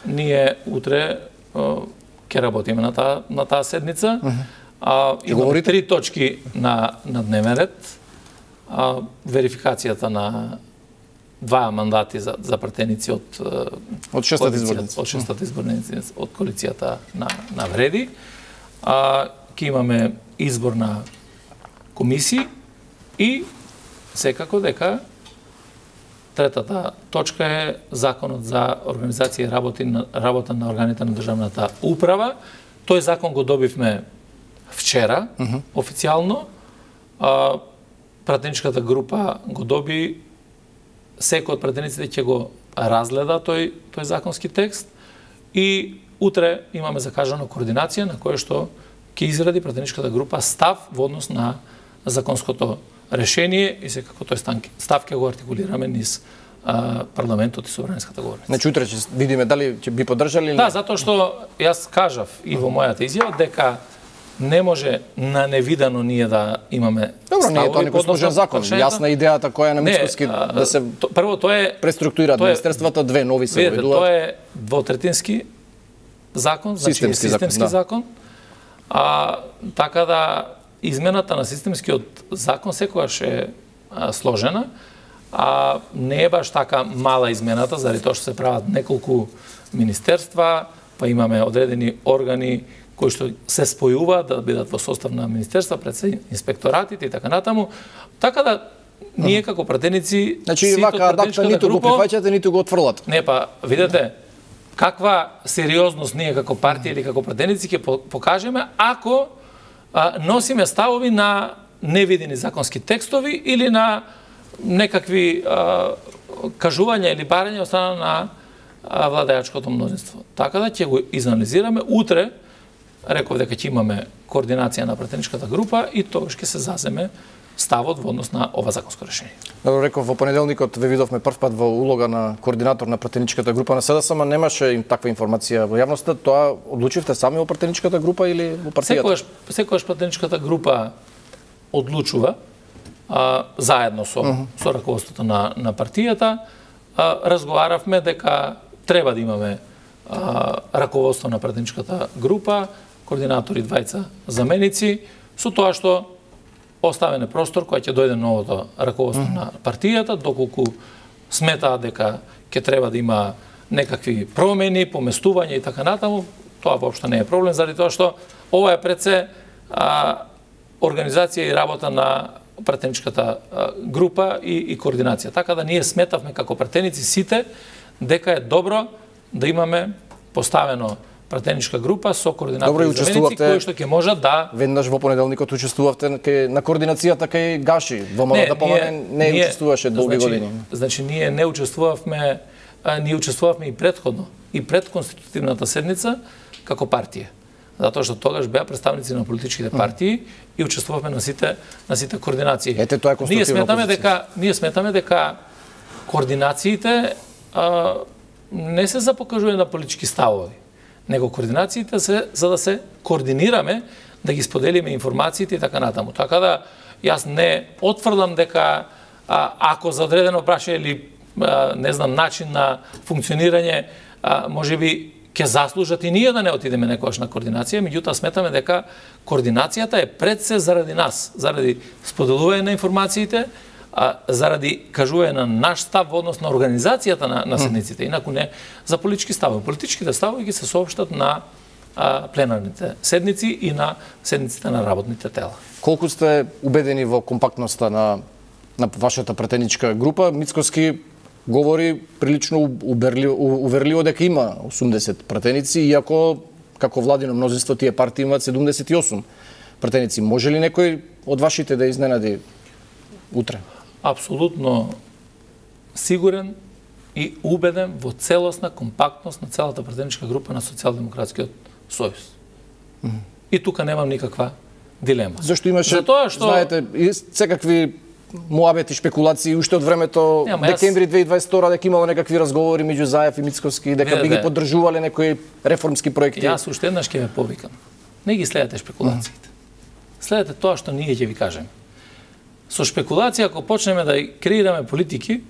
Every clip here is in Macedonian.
ние утре ќе работиме на таа седница. Имаме 3 точки на дневен ред. Верификацијата на 2 мандати за пратеници од 6-та изборници. Од 6-та изборници од коалицијата на Вреди. Ќе имаме избор на комисии и секако дека третата точка е законот за организација и работа на органите на државната управа. Тој закон го добивме вчера, официјално. Пратеничката група го доби, секој од пратениците ќе го разгледа тој законски текст и утре имаме закажана координација на која што ќе изради пратеничката група став во однос на законското решение и секако тој став ќе го артикулираме низ парламентот и собраниската говорница. Значи утре ќе видиме дали ќе би поддржали или не? Да, затоа што јас кажав и во мојата изјава дека не може на невидано ние да имаме ставови. Добро, не е тоа некој сложен закон. Јасна идејата која е на Мицкоски да се прво тоа е преструктурираат министерствата, 2 нови се уведуваат. Тоа е двотретински закон, значи системски закон. Така да измената на системскиот закон секогаш е сложена, не е баш така мала измената, заради тоа што се прават неколку министерства, па имаме одредени органи кои што се спојуваат да бидат во состав на министерства, пред се инспекторатите и така натаму. Така да ние како пратеници, значи вака адакта ниту го прифаќате, ниту го отфрлате. Не, па видете каква сериозност ние како партија или како пратеници ќе покажеме ако носиме ставови на невидени законски текстови или на некакви кажувања или барања од страна на владеачкото мнозинство. Така да ќе го изанализираме утре. Реков дека ќе имаме координација на пратеничката група и тогаш ќе се заземе ставот во однос на ова законско решение. Добро, реков во понеделникот ве видовме прв пат во улога на координатор на пратеничката група на СДСМ, ама немаше таква информација во јавноста. Тоа одлучивте сами во пратеничката група или во партијата? Секогаш пратеничката група одлучува заедно со раководството на партијата. Разговаравме дека треба да имаме раководство на пратеничката група, координатори, 2 заменици, со тоа што оставен е простор кој ќе дојде новото раководство на партијата, доколку сметаат дека ќе треба да има некакви промени, поместување и така натаму, тоа воопшто не е проблем, заради тоа што ова е пред се организација и работа на пратеничката група и координација. Така да ние сметавме како пратеници сите дека е добро да имаме поставено пратеничка група со координатори и заменици кои што ќе можат да... Веднаш во понеделникот учествувавте на координацијата кај Гаши. ВМРО не учествуваше долги години. Значи ние не учествувавме, ние учествувавме и предходно, и пред конститутивната седница како партија. Затоа што тогаш беа представници на политичките партии и учествувавме на сите координации. Ете, тоа е конструктивна позиција. Ние сметаме дека координациите не се за покажување на политички ставови, него координациите се за да се координираме, да ги споделиме информациите и така натаму. Така да јас не отврдам дека ако за одредено прашање или не знам начин на функционирање можеби ќе заслужат и ние да не отидеме некогаш на координација, меѓутоа сметаме дека координацијата е пред се заради нас, заради споделување на информациите, заради кажување на наш став во однос на организацијата на седниците, инаку не за политички ставови. Политичките ставови ги се соопштат на пленарните седници и на седниците на работните тела. Колку сте убедени во компактноста на вашата пратеничка група? Мицкоски говори прилично уверливо дека има 80 пратеници, иако како владино мнозинство тие партии имаат 78 пратеници. Може ли некој од вашите да изненади утре? Апсолутно сигурен и убеден во целосна компактност на целата пратеничка група на Социјалдемократскиот сојуз. И тука немам никаква дилема. Зашто имаше, знаете, секакви муабети, шпекулации уште од времето декември 2022 дека имало некакви разговори меѓу Заев и Мицкоски, дека би ги поддржувале некои реформски проекти. Јас уште еднаш ќе ве повикам. Не ги следете шпекулациите. Следете тоа што ние ќе ви кажеме. Со шпекулација, ако почнеме да креираме политики,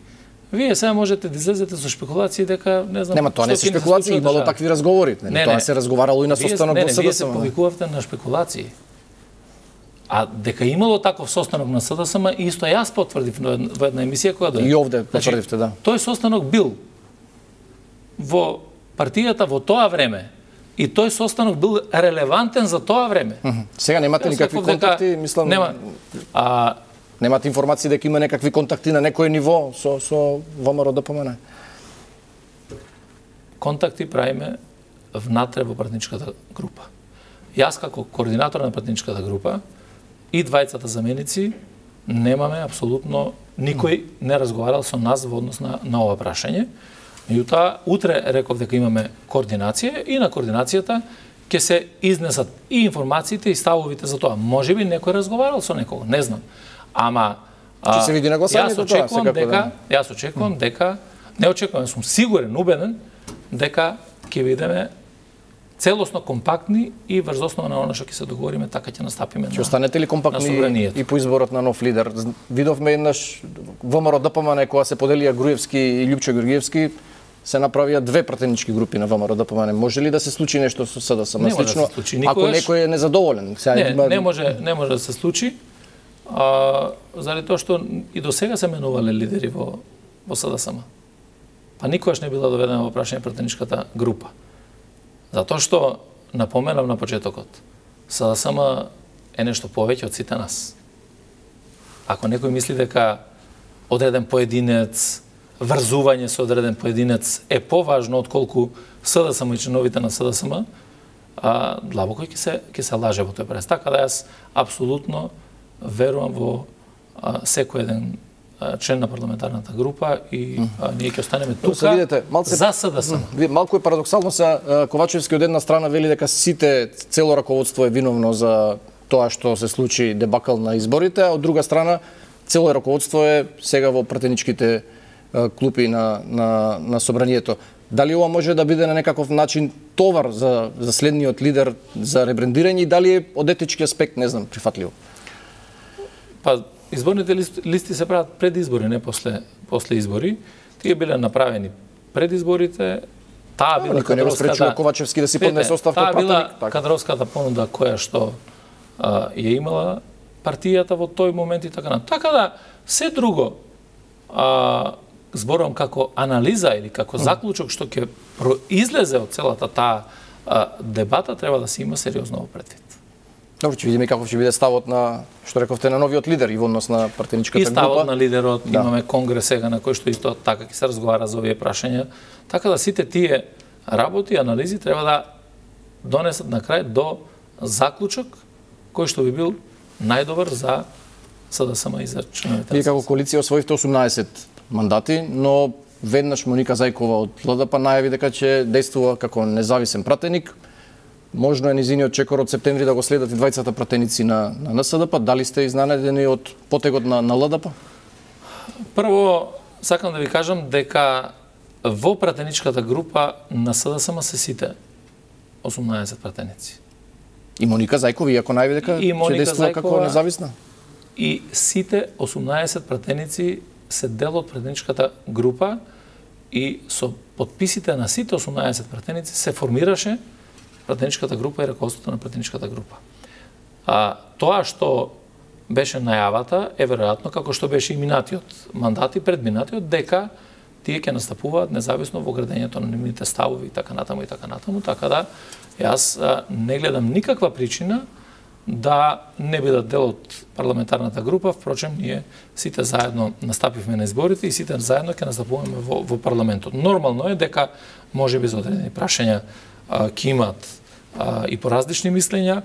Вие сега можете да излезете со шпекулации дека не знам. Нема, тоа не се шпекулации, имало такви разговори. Тоа се разговарало и на состанок во СДСМ. Вие се повикувавте на шпекулации. А дека имало таков состанок на СДСМ, исто јас потврдив во една емисија која дојде. И овде потврдивте, да. Тој состанок бил во партијата во тоа време. И тој состанок бил релевантен за тоа време. Сега немате никакви контакти, мислам. Нема. Немате информации дека има некакви контакти на некој ниво со ВМРО ДПМН? Контакти правиме внатре во пратничката група. Јас како координатор на пратничката група и двајцата заменици немаме апсолутно никој не разговарал со нас во однос на ова прашање. Меѓутоа, утре реков дека имаме координација и на координацијата ќе се изнесат и информациите и ставовите за тоа. Можеби некој разговарал со некого, не знам. Ама ќе се види на гласањето тоа, секако. Јас очекувам дека, не очекувам, сум сигурен, убеден дека ќе бидеме целосно компактни и врз основа на она што ќе се договориме, така ќе настапиме на. Ќе останете ли компактни и по изборот на нов лидер? Видовме еднаш ВМРО ДПМН кога се поделија Груевски и Љупчо Георгиевски, се направија две пратенички групи на ВМРО ДПМН. Може ли да се случи нешто со СДСМ? Не може да се случи никогаш. Ако некој е незадоволен. Не може да се случи. Заради тоа што и до сега се менувале лидери во СДСМ. Па никогаш не била доведена во прашање пратеничката група. Затоа што, напоменав на почетокот, СДСМ е нешто повеќе од сите нас. Ако некој мисли дека одреден поединец, врзување со одреден поединец е поважно отколку СДСМ и членовите на СДСМ, длабоко ќе се лаже во тој прес. Така да јас апсолутно верувам во секој еден член на парламентарната група и ние ќе останеме тука за СДСМ. Малку е парадоксално се Ковачевски од една страна вели дека цело раководство е виновно за тоа што се случи дебакал на изборите, а од друга страна цело раководство е сега во пратеничките клупи на собранието. Дали ова може да биде на некаков начин товар за следниот лидер за ребрендирање и дали е од етички аспект, не знам, прифатливо? Па, изборните листи се прават пред избори, не после избори. Тие биле направени пред изборите. Таа била никој не го спречува Ковачевски да си поднесе оставка пратеник. Таа била кадровската понуда која што ја имала партијата во тој момент и така на. Така да, се друго, зборувам како анализа или како заклучок што ќе произлезе од целата таа дебата, треба да се има сериозно во предвид. Добро, ќе видиме каков ќе биде ставот на, што рековте, на новиот лидер и во однос на пратеничката група. И ставот на лидерот, имаме конгрес сега на кој што исто така ќе се разговара за овие прашања. Така да сите тие работи, анализи треба да донесат на крај до заклучок кој што би бил најдобар за СДСМ и за членовите. Вие како коалиција освоивте 18 мандати, но веднаш Моника Зајкова од ЛДП најави дека ќе действува како независен пратеник. Можно е низиниот чекор од септември да го следат и двајцата пратеници на НСДП. Дали сте изненадени од потегот на ЛДП? Прво, сакам да ви кажам дека во пратеничката група на СДСМ се сите 18 пратеници. И Моника Зајкова, иако најави дека ќе действува како независна? И сите 18 пратеници се дел од пратеничката група и со подписите на сите 18 пратеници се формираше пратеничката група и раководството на пратеничката група. Тоа што беше најавата е веројатно како што беше и минатиот мандат и предминатиот, дека тие ќе настапуваат независно во градењето на нивните ставови и така натаму и така натаму, така да јас не гледам никаква причина да не бидат дел од парламентарната група. Впрочем, ние сите заедно настапивме на изборите и сите заедно ќе настапуваме во парламентот. Нормално е дека можеби за одредени прашања ќе имаат и по различни мислења,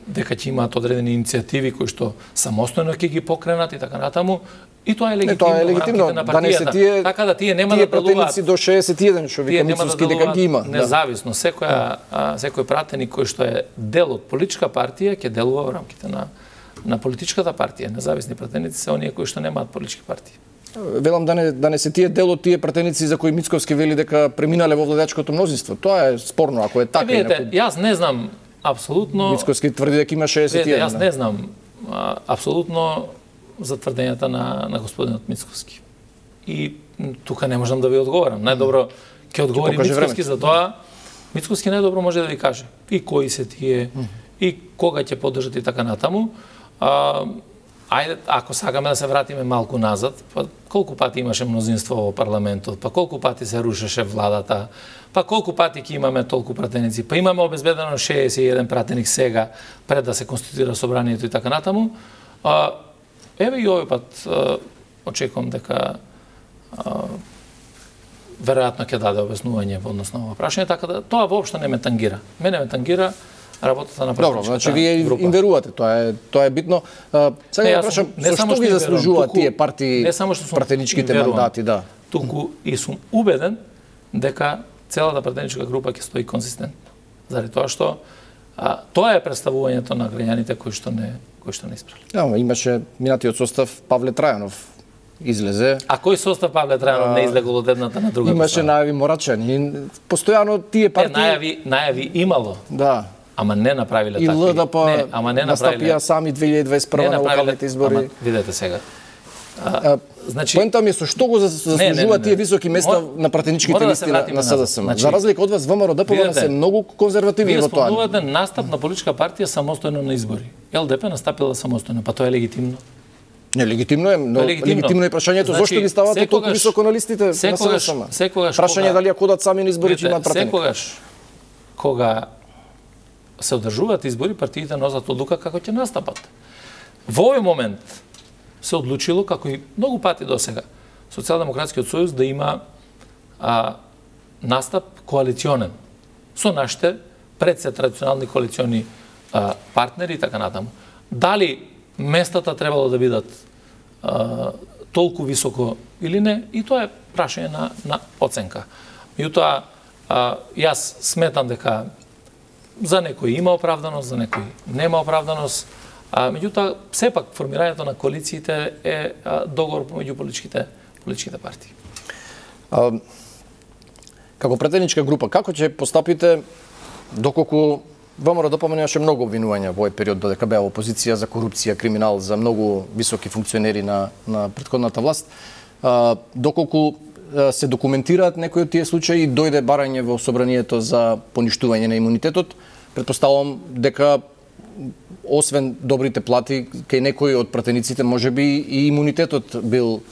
дека ќе имаат одредени иницијативи кои што самостојно ќе ги покренат и така натаму. И тоа е легитимно на партијата. Така да тие нема да делуваат до 61 што вика Мицовски дека ги има. Независно, секој пратеник кој што е дел од политичка партија ќе делува во рамките на политичката партија. Независни пратеници се оние кои што немаат политички партии. Велам да не се тие дел од тие пратеници за кои Мицковски вели дека преминале во владеачкото мнозинство. Тоа е спорно, ако е така. Видете, јас не знам апсолутно. Мицковски тврди дека има 61. Јас не знам апсолутно за тврдењата на господинот Мицковски. И тука не можам да ви одговорам. Најдобро ќе одговори Мицкоски за тоа. Мицкоски најдобро може да ви каже и кои се тие, и кога ќе поддржат и така натаму. Ајде, ако сакаме да се вратиме малку назад, па колку пати имаше мнозинство во парламентот, па колку пати се рушеше владата, па колку пати ќе имаме толку пратеници, па имаме обезбедено 61 пратеник сега пред да се конституира собранието и така натаму. Еве и овој пат очекувам дека веројатно ќе даде обяснување во однос на ова прашање, така да тоа воопшто не ме тангира. Мене ме тангира работата на пратеничката група. Добро, значи вие им верувате, тоа е битно. Сега ја прашам, зашто ги заслужуваат тие партии пратеничките мандати, да? Туку и сум убеден дека целата пратеничка група ќе стои конзистентно. Заради тоа што тоа е представувањето на граѓаните кои што не испрали. Да, имаше минатиот состав Павле Трајанов излезе. А кој состав Павле Трајанов не излегол од едната на другата? Имаше најави Морачани. Постојано тие партии најави имало. Да. Ама не направиле такви. И ЛДП настапија сами 2021 на локалните избори. Ама видете сега. Значи, поента ми е со што го заслужуваат тие високи места на пратеничките листи на СДСМ. За разлика од вас, ВМРО ДПМН се многу конзервативни во тоа. Вие спомнувате настап на политичка партија самостојно на избори. ЛДП настапила самостојно, па тоа е легитимно. Не, легитимно е, но легитимно е прашањето зошто ги ставате толку високо на листите на СДСМ. Прашање дали ја кодат сами на избори че имаат пратеник. Секогаш кога се одржуваат избори, партиите носат одлука како ќе настапат. Во овој момент се одлучило, како и многу пати досега, Социјалдемократскиот сојуз да има настап коалиционен со нашите пред се традиционални коалициони партнери и така натаму. Дали местата требало да бидат толку високо или не, и тоа е прашање на оценка. Меѓутоа, јас сметам дека за некој има оправданост, за некој нема оправданост. Меѓутоа, сепак формирањето на коалициите е договор помеѓу политичките партии. Како пратеничка група, како ќе постапите доколку ВМРО ДПМН имаше многу обвинувања во овој период додека беа опозиција за корупција, криминал, за многу високи функционери на претходната власт, доколку се документираат некои од тие случаи и дојде барање во собранието за поништување на имунитетот, претпоставувам дека освен добрите плати кај некои од пратениците можеби и имунитетот бил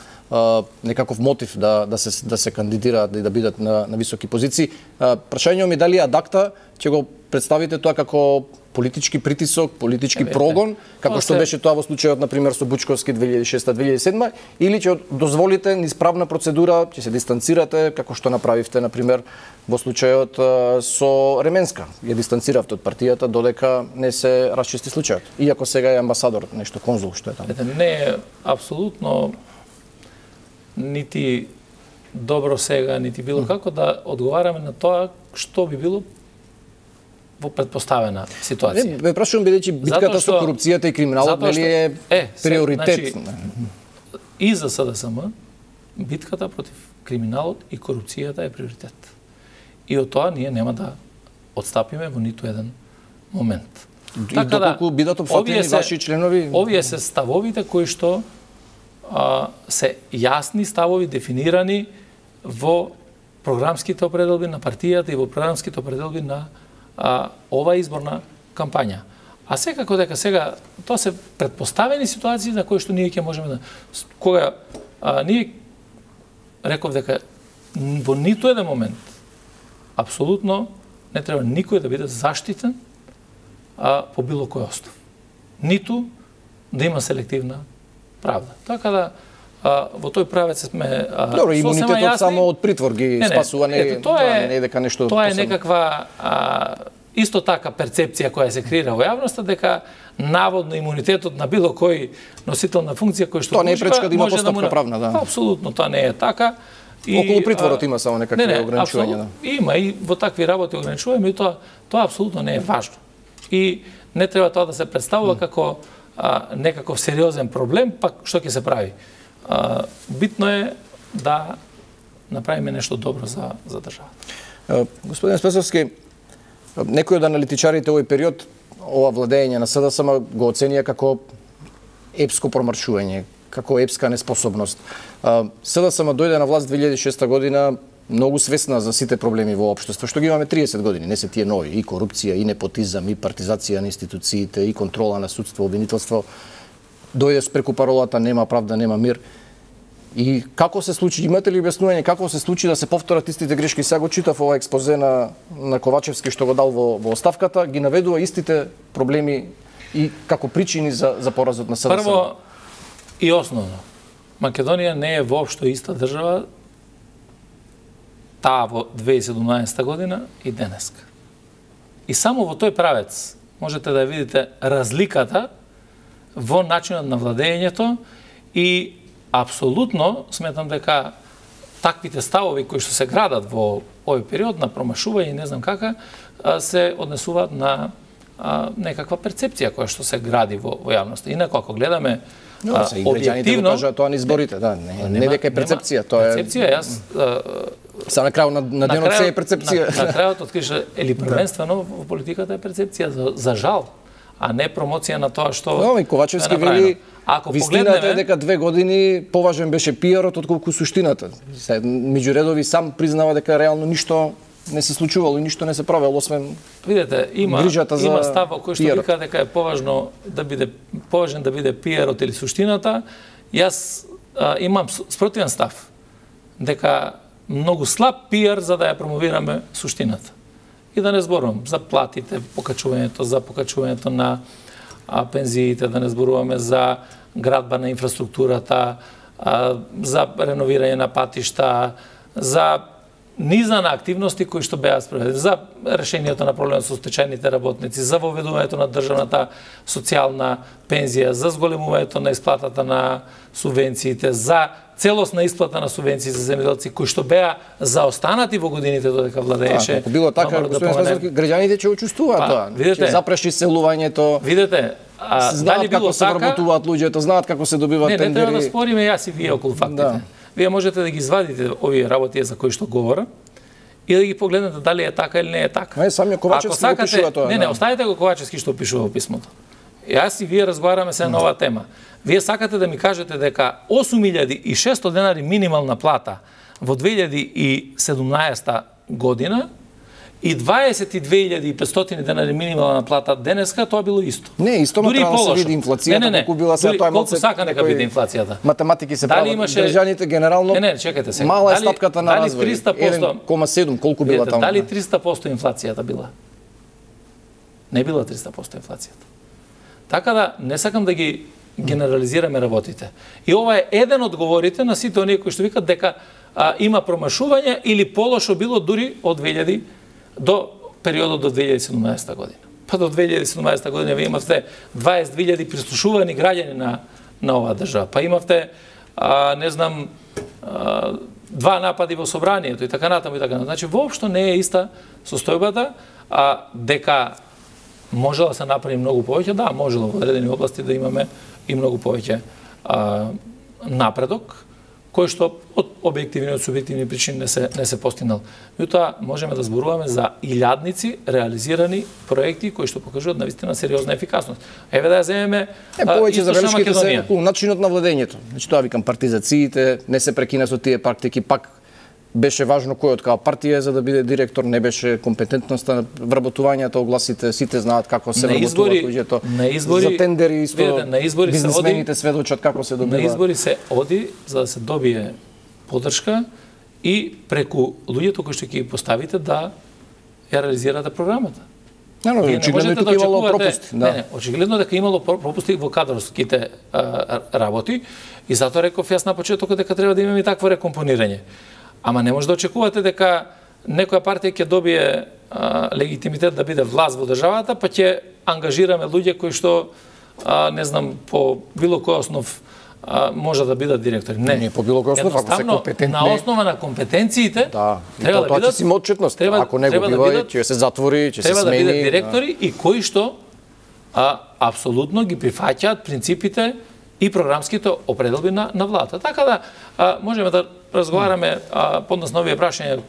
некаков мотив да се кандидираат и да бидат на високи позиции. Прашањето ми дали адакта ќе го представите тоа како политички притисок, политички прогон, како што беше тоа во случајот на пример со Бучковски 2006-2007, или ќе дозволите низ правна процедура, ќе се дистанцирате како што направивте на пример во случајот со Ременска. Ја дистанциравте од партијата додека не се расчисти случајот. Иако сега е амбасадор, нешто конзул што е таму. Не е апсолутно нити добро сега, нити било како да одговараме на тоа што би било во предпоставена ситуација. Не, прашувам бидејќи битката со корупцијата и криминалот нели е приоритет. И за СДСМ битката против криминалот и корупцијата е приоритет. И од тоа ние нема да отстапиме во ниту еден момент. И доколку бидат опфатени ваши членови? Овие се ставовите кои што се јасни ставови дефинирани во програмските определби на партијата и во програмските определби на ова изборна кампања. А секако дека сега тоа се претпоставени ситуации на кои што ние ќе можеме да кога ние реков дека во ниту еден момент апсолутно не треба никој да биде заштитен по било кој основ. Ниту да има селективна правда. Така да во тој правец сме добро, имунитетот само од притвор ги спасува, не е дека нешто тоа е некаква исто така перцепција која се креира во јавноста дека наводно имунитетот на било кој носител на функција кој што тоа не е пречка да има постапка правна, да. Апсолутно тоа не е така. И околу притворот има само некакви ограничувања, да. Има и во такви работи ограничувања, и тоа апсолутно не е важно. И не треба тоа да се представува како некаков сериозен проблем, пак што ќе се прави. Битно е да направиме нешто добро за државата. Господин Спесовски, некои од аналитичарите овој период, ова владење на СДСМ го оценија како епско промаршување, како епска неспособност. СДСМ дојде на власт 2006 година многу свесна за сите проблеми во општество, што ги имаме 30 години, не се тие нови, и корупција, и непотизам, и партизација на институциите, и контрола на судство, обвинителство. Дојде преку паролата нема правда, нема мир. И како се случи, имате ли објаснување како се случи да се повторат истите грешки? Сега го читав ова експозе на Ковачевски што го дал во оставката, ги наведува истите проблеми и како причини за поразот на СДСМ. Прво и основно, Македонија не е воопшто иста држава таа во 2017 година и денеска. И само во тој правец можете да видите разликата во начинот на владењето и апсолутно сметам дека таквите ставови кои што се градат во овој период на промашување и не знам кака се однесуваат на некаква перцепција која што се гради во јавноста. Инаку ако гледаме објективно, тоа на изборите, да, не дека е перцепција, тоа е перцепција, јас са на крајот на денот се е перцепција. На крајот откриш или првенствено во политиката е перцепција за жал, а не промоција на тоа што и Ковачевски вели вистината е дека 2 години поважен беше пиарот отколку суштината. Меѓу редови сам признава дека реално ништо не се случувало и ништо не се правело освен видете, има став кој што вика дека е поважен да биде пиарот или суштината. Јас имам спротивен став дека многу слаб пиар за да ја промовираме суштината. И да не зборувам за платите, покачувањето на пензиите, да не зборуваме за градба на инфраструктурата, за реновирање на патишта, за низа на активности кои што беа спроведени, за решението на проблемот со стечајните работници, за воведувањето на државната социјална пензија, за зголемувањето на исплатата на субвенциите, за целосна исплата на субвенции за земјоделци кои што беа заостанати во годините додека владееше. Ако било така, граѓаните ќе учествуваат тоа. Ќе запреши селувањето. Видете, знаат како се вработуваат луѓето, знаат како се добиваат тендери. Не треба да спориме јас и вие околу фактите. Вие можете да ги извадите овие работи за кои што говорам и да ги погледнете дали е така или не е така. Не, самиот Ковачевски го пишува тоа. Не, оставете го Ковачевски што пишува во писмото. Јас и вие разговараме се на оваа тема. Вие сакате да ми кажете дека 8.600 денари минимална плата во 2017 година и 22.500 денари минимална плата денеска, тоа било исто. Не, исто треба да се види инфлацијата, колку била сега тоа колку сака нека биде инфлацијата. Математики се прават, граѓаните генерално. Не, чекайте се. Мала е стапката на развој. 1,7 колку била таму. Дали 300% инфлацијата била? Не била 300% инфлацијата. Така да не сакам да ги генерализираме работите. И ова е еден од говорите на сите оние кои што викат дека има промашување или полошо било дури од 2000 до периодот до 2017 година. Па до 2017 година ви имавте 22.000 прислушувани граѓани на оваа држава. Па имавте, не знам, 2 напади во собранието и така натаму и така натаму. Значи, воопшто не е иста состојбата, дека можела да се направи многу повеќе, да, можела во одредени области да имаме и многу повеќе напредок, кој што од објективни и од субјективни причини не се постигнал. Меѓутоа, можеме да зборуваме за илјадници реализирани проекти кои што покажуваат навистина сериозна ефикасност. Еве да ја земеме повеќе забелешките се околу начинот на владењето. Значи тоа викам партизациите, не се прекина со тие практики, пак беше важно кој од каја партија за да биде директор, не беше компетентноста на вработувањето, огласите, сите знаат како се вработуваат луѓето. За тендери исто, бизнисмените сведочат како се добива. На избори се оди за да се добие поддршка и преку луѓето кои што ќе ги поставите да ја реализирате програмата. Очигледно тука имало пропусти. Не, очигледно дека имало пропусти во кадрските работи и затоа реков јас на почетокот дека треба да имаме и такво рекомпонирање. Ама не може да очекувате дека некоја партија ќе добие легитимитет да биде власт во државата, па ќе ангажираме луѓе кои што, не знам, по било кој основ може да бидат директори. Не, по било кој основ, ако се компетентни. На основа на компетенциите, треба да бидат, си има отчетност. Ако не го бива, ќе се затвори, ќе се смени. Треба да бидат директори и кои што апсолутно ги прифаќаат принципите и програмските определби на владата. Така да можеме да разговараме поднос на овие прашања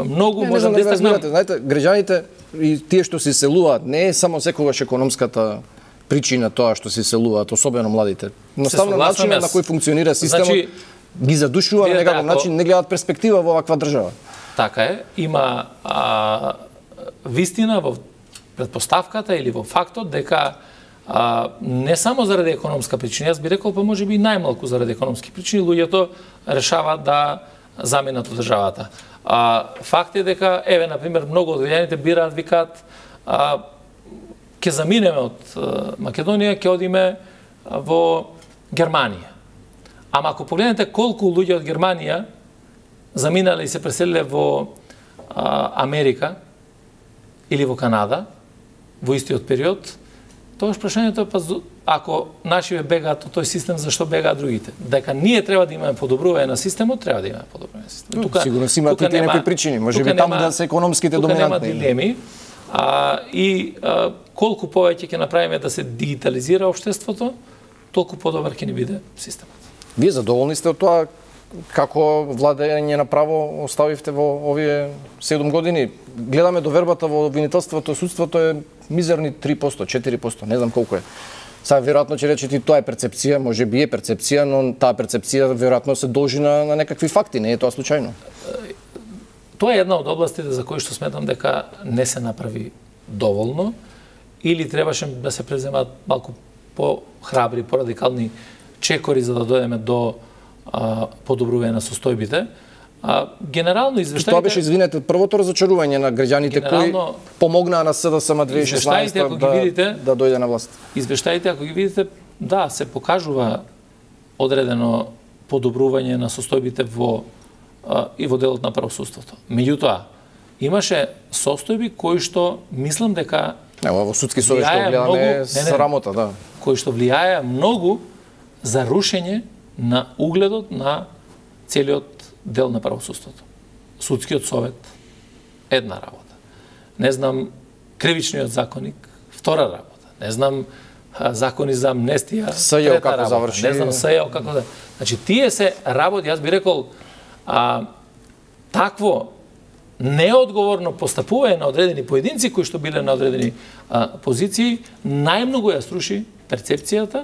многу, можам да истакнам. Знаете, граѓаните и тие што се селуваат, не е само секогаш економската причина тоа што се иселуваат, особено младите. Едноставно начинот на кој функционира системот ги задушува на некаков начин, не гледаат перспектива во оваква држава. Така е, има вистина во предпоставката или во фактот дека не само заради економска причина, јас би рекол па можеби и најмалку заради економски причини луѓето решаваат да заменат од државата. Факт е дека еве на пример многу од граѓаните бираат, викаат ќе заминеме од Македонија, ќе одиме во Германија. Ама ако погледнете колку луѓе од Германија заминале и се преселиле во Америка или во Канада во истиот период, тогаш прашањето е па ако нашиве бегаат од тој систем, зашто бегаат другите? Дека ние треба да имаме подобрување на системот, треба да имаме подобрување на системот. Тука сигурно си имате и некои причини, можеби таму да се економските доминантни. Тука нема дилеми. Колку повеќе ќе направиме да се дигитализира општеството, толку подобар ќе ни биде системот. Вие задоволни сте од тоа како владење на право оставивте во овие 7 години? Гледаме довербата во обвинителството, судството е мизерни 3%, 4%, не знам колку е. Сега веројатно ќе речете тоа е перцепција, можеби е перцепција, но таа перцепција веројатно се должи на некакви факти, не е тоа случајно. Тоа е една од областите за кои што сметам дека не се направи доволно или требаше да се преземат малку по-храбри, по-радикални чекори за да дојдеме до подобрување на состојбите. Генерално извештаите... Тоа беше, извинете, првото разочарување на граѓаните кои помогнаа на СДСМ 2016 да дојде на власт. Извештаите, ако ги видите, да, се покажува одредено подобрување на состојбите и во делот на правосудството. Меѓутоа, имаше состојби кои што мислам дека во судски совет што гледаме срамота, да. Кои што влијаја многу за рушење на угледот на целиот дел на правосудството. Судскиот совет, една работа. Не знам, кривичниот законник, втора работа. Не знам, закони за амнестија, трета работа. Заврши... Не знам, СЈО како да... Значи, тие се работи, јас би рекол, такво неодговорно постапување на одредени поединци кои што биле на одредени позиции, најмногу ја струши перцепцијата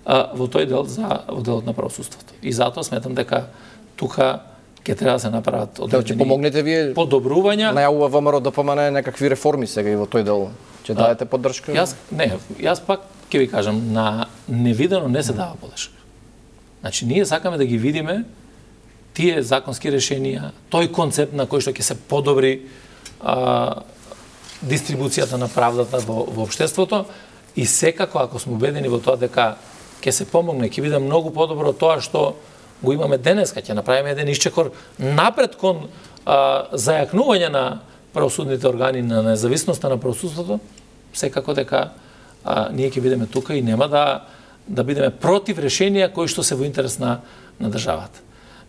во тој дел во делот на правосудството. И затоа сметам дека тука ќе треба да се направат одредени помогнете вие подобрувања. Најавува ВМРО ДПМН некакви реформи сега и во тој дел. Ќе дадете поддршка? Јас пак ќе ви кажам, на невидено не се дава поддршка. Значи, ние сакаме да ги видиме тие законски решенија, тој концепт на кој што ќе се подобри дистрибуцијата на правдата во општеството и секако, ако сме убедени во тоа дека ќе се помогне, ќе биде многу подобро тоа што го имаме денеска, ќе направиме еден исчекор напред кон зајакнување на правосудните органи, на независноста на правосудството, секако дека ние ќе бидеме тука и нема да бидеме против решенија кои што се во интерес на државата.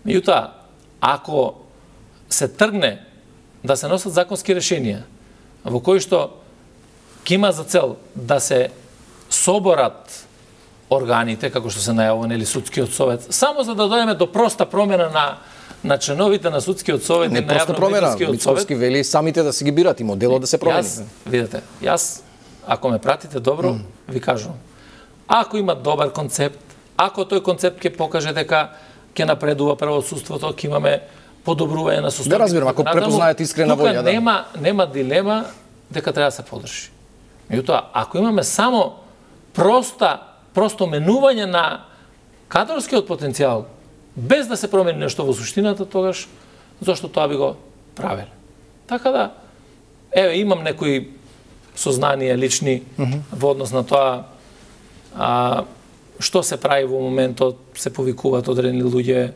Меѓутоа, ако се тргне да се носат законски решенија во кои што ќе има за цел да се соборат органите, како што се најавува, нели, судскиот совет, само за да дојдеме до проста промена на членовите на судскиот совет и на јавно-медиумскиот совет. Мицковски вели самите да се ги бират и моделот да се промени. Видете, јас, ако ме пратите добро, ви кажувам. Ако има добар концепт, ако тој концепт ќе покаже дека ќе напредува правосудството, ќе имаме подобрување на состојбите. Да разбирам, ако препознаете искрена волја, да. Нема дилема дека треба да се поддржи. Меѓутоа, ако имаме само просто менување на кадрскиот потенцијал, без да се промени нешто во суштината, тогаш зошто тоа би го правеле. Така да, еве, имам некои сознанија лични во однос на тоа што се прави во моментот, се повикуваат одредени луѓе,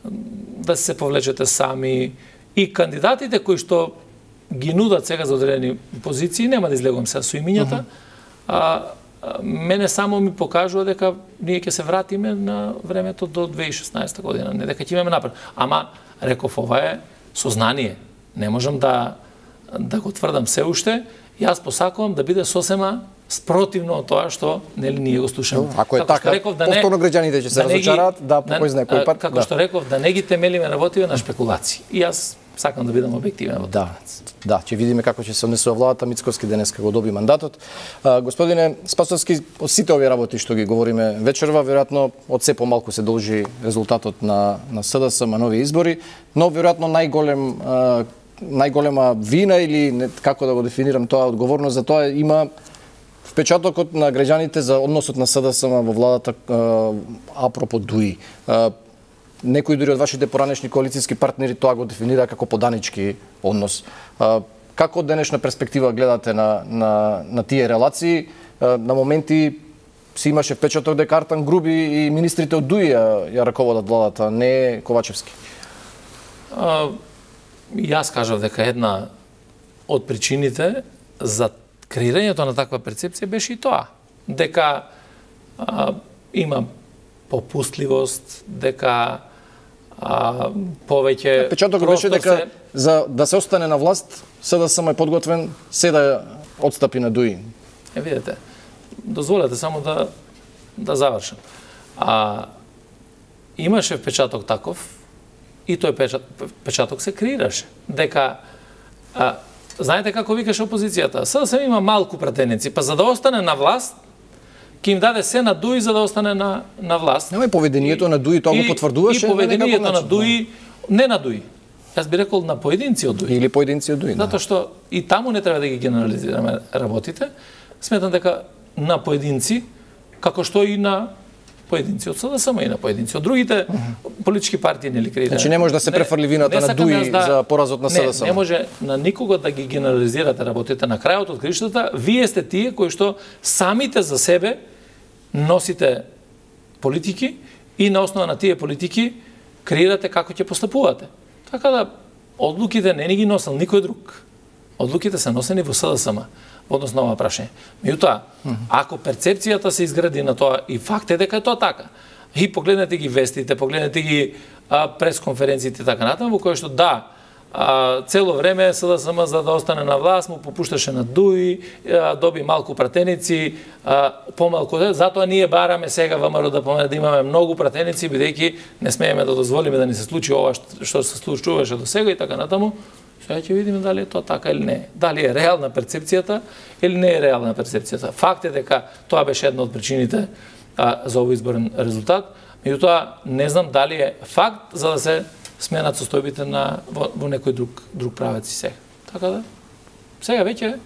да се повлечете сами и кандидатите кои што ги нудат сега за одредени позиции, нема да излегувам сега со имињата, мене само ми покажува дека ние ќе се вратиме на времето до 2016 година, не дека ќе имаме напред. Ама, реков, ова е сознание. Не можам да го тврдам се уште. Јас посакувам да биде сосема спротивно од тоа што нели ние го слушаме. Ако е така, повторно граѓаните ќе се разочараат, да, по кој знае кој пат. Како што реков, да не ги темелиме работиве на шпекулации. И јас сакам да бидам објективен. Да, ќе видиме како ќе се однесува владата. Мицкоски денеска го доби мандатот. Господине Спасовски, од сите овие работи што ги говориме вечерва, веројатно од се помалку се должи резултатот на СДСМ, нови избори, но веројатно најголема вина или како да го дефинирам тоа, одговорност за тоа има впечатокот на граѓаните за односот на СДСМ во владата апропо ДУИ. Некои дури од вашите поранешни коалицијски партнери тоа го дефинира како поданички однос. Како од денешна перспектива гледате на тие релации? На моменти си имаше впечаток дека Артан Груби и министрите од ДУИ ја раководат владата, не Ковачевски. Јас кажав дека една од причините за креирањето на таква перцепција беше и тоа, дека има попустливост, дека повеќе печатокот беше дека за да се остане на власт, СДСМ е подготвен се да отстапи на ДУИ. Видете, дозволете само да завршам. Имаше впечаток таков и тој печаток се креираше. Дека знаете како викаше опозицијата? СДСМ има малку пратеници, па за да остане на власт, ќе им даде се на ДУИ за да остане на власт. Нема и поведението на ДУИ, тоа го потврдуваше. И поведението на ДУИ, не на ДУИ. Јас би рекол на поединци од ДУИ. Или поединци од ДУИ. Затоа што и таму не треба да ги генерализираме работите. Сметам дека на поединци, како што и на поединци од СДСМ и на поединци од другите политички партии нели креираат. Значи не може да се префрли вината на ДУИ за поразот на СДСМ. Не може на никого да ги генерализирате работите. На крајот од кришата, вие сте тие кои што самите за себе носите политики и на основа на тие политики креирате како ќе постапувате. Така да одлуките не ни ги носел никој друг. Одлуките се носени во СДСМ во однос на ова прашање. Меѓутоа, ако перцепцијата се изгради на тоа и факт е дека е тоа така, и погледнете ги вестите, погледнете ги пресконференциите и така натаму, во кои што цело време СДСМ за да остане на власт му попушташе на ДУИ, доби малку пратеници, помалку, затоа ние бараме сега ВМРО да имаме многу пратеници, бидејќи не смееме да дозволиме да ни се случи ова што се случуваше до сега и така натаму. Сега ќе видиме дали е тоа така или не. Дали е реална перцепцијата или не е реална перцепцијата. Факт е дека тоа беше една од причините за овој изборен резултат. Меѓутоа, не знам дали е факт за да се сменат состојбите во некој друг правец и сега. Така да, сега веќе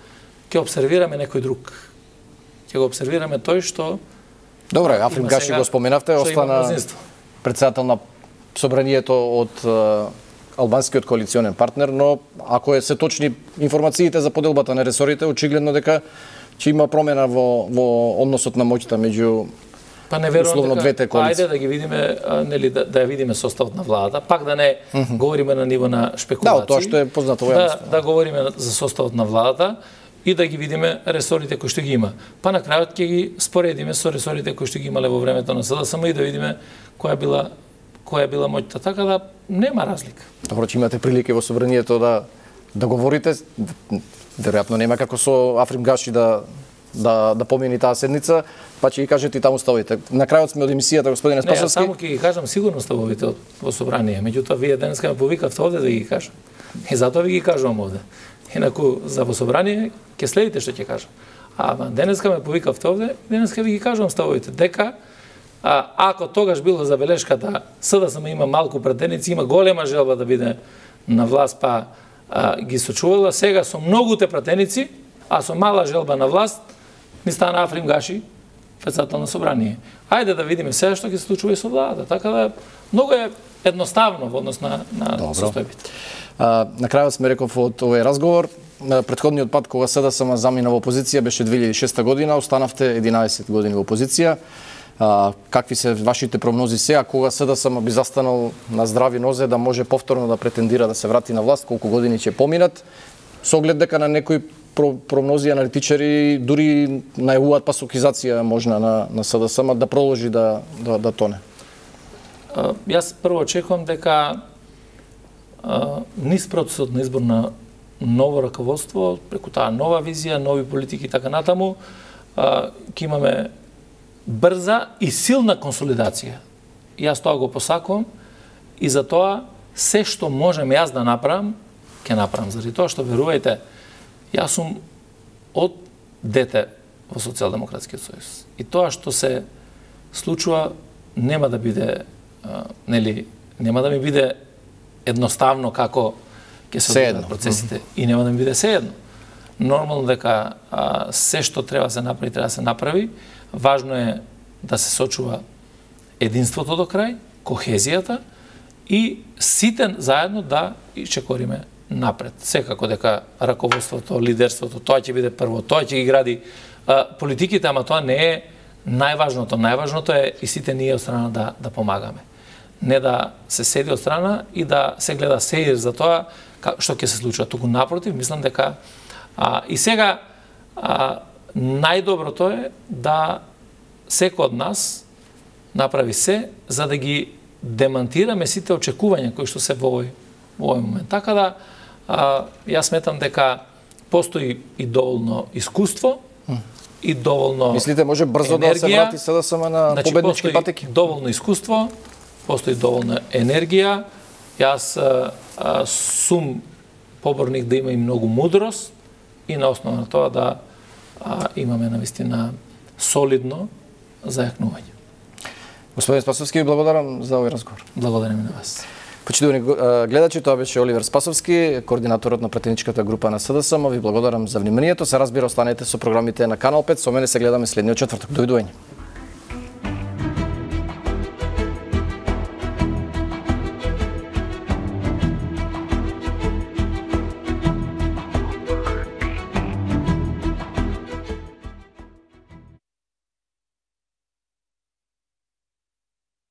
ќе обсервираме некој друг. Ќе го обсервираме тој што... Добре, Африм Гаши го споменавте, остана председател на собранието од албанскиот коалиционен партнер, но ако се точни информациите за поделбата на ресорите, очигледно дека ќе има промена во односот на моќта меѓу условно двете коалиции. Ајде да ги видиме, нели да ја видиме составот на владата, пак да не говориме на ниво на шпекулации. Да, тоа што е познато во јавноста. Да говориме за составот на владата и да ги видиме ресорите кои што ги има. Па на крајот ќе ги споредиме со ресорите кои што ги имале во времето на СДСМ и да видиме која била моќта. Така да нема разлика. Добро, че имате прилика во собранието да говорите. Веројатно нема како со Африм Гаши да помини таа седница, па ќе ги кажете и таму ставовите. На крајот сме од емисијата, господине Спасовски. Не, само ќе ги кажам сигурно ставовите во собрание, меѓутоа вие денеска ме повикавте овде да ги кажам. И затоа ви ги кажувам овде. Инаку за во собрание ќе следите што ќе кажам. Ама денеска ме повикавте овде, денеска ви ги кажувам ставовите. Дека ако тогаш била забелешката СДСМ има малку пратеници, има голема желба да биде на власт, па ги сочувала, сега со многуте пратеници, а со мала желба на власт, ни стана Африм Гаши председател на собрание. Ајде да видиме сега што ќе се случува и со владата. Така да многу е едноставно во однос на состојбите. На крајот сме реков од овој разговор, претходниот пат кога СДСМ замина во опозиција беше 2006 година, останавте 11 години во опозиција. Какви се вашите прогнози сега, кога СДСМ би застанал на здрави нозе да може повторно да претендира да се врати на власт, колку години ќе поминат, со оглед дека на некои прогнози аналитичари дури најавуваат пасокизација можна на СДСМ да продолжи да тоне? Јас прво очекувам дека низ процесот на избор на ново раководство, преку таа нова визија, нови политики и така натаму, ќе имаме брза и силна консолидација. Јас тоа го посакувам и за тоа се што можем јас да направам ќе направам. Заради тоа што верувајте, јас сум од дете во Социјалдемократскиот сојуз. И тоа што се случува нема да биде нема да ми биде едноставно како ќе се одвијат процесите и нема да ми биде сеедно. Нормално дека се што треба да се направи. Важно е да се сочува единството до крај, кохезијата и сите заедно да ичекориме напред. Секако дека раководството, лидерството, тоа ќе биде прво, тоа ќе ги гради политиките, ама тоа не е најважното. Најважното е и сите ние од страна да помагаме. Не да се седи од страна и да се гледа сеир за тоа што ќе се случува. Туку напротив, мислам дека и сега најдоброто е да секој од нас направи се за да ги демантираме сите очекувања кои што се во овој момент. Така да јас сметам дека постои и доволно искуство и доволно мислите може брзо енергија, да се врати СДСМ на победнички патеки? Доволно искуство, постои доволна енергија. Јас сум поборник да има и многу мудрост и на основа на тоа да имаме навистина солидно зајакнување. Господин Спасовски, ви благодарам за овој разговор. Благодарам и на вас. Почитувани гледачи, тоа беше Оливер Спасовски, координаторот на пратеничката група на СДСМ. Ви благодарам за вниманието. Се разбира, останете со програмите на Канал 5. Со мене се гледаме следниот четврток. Довидување.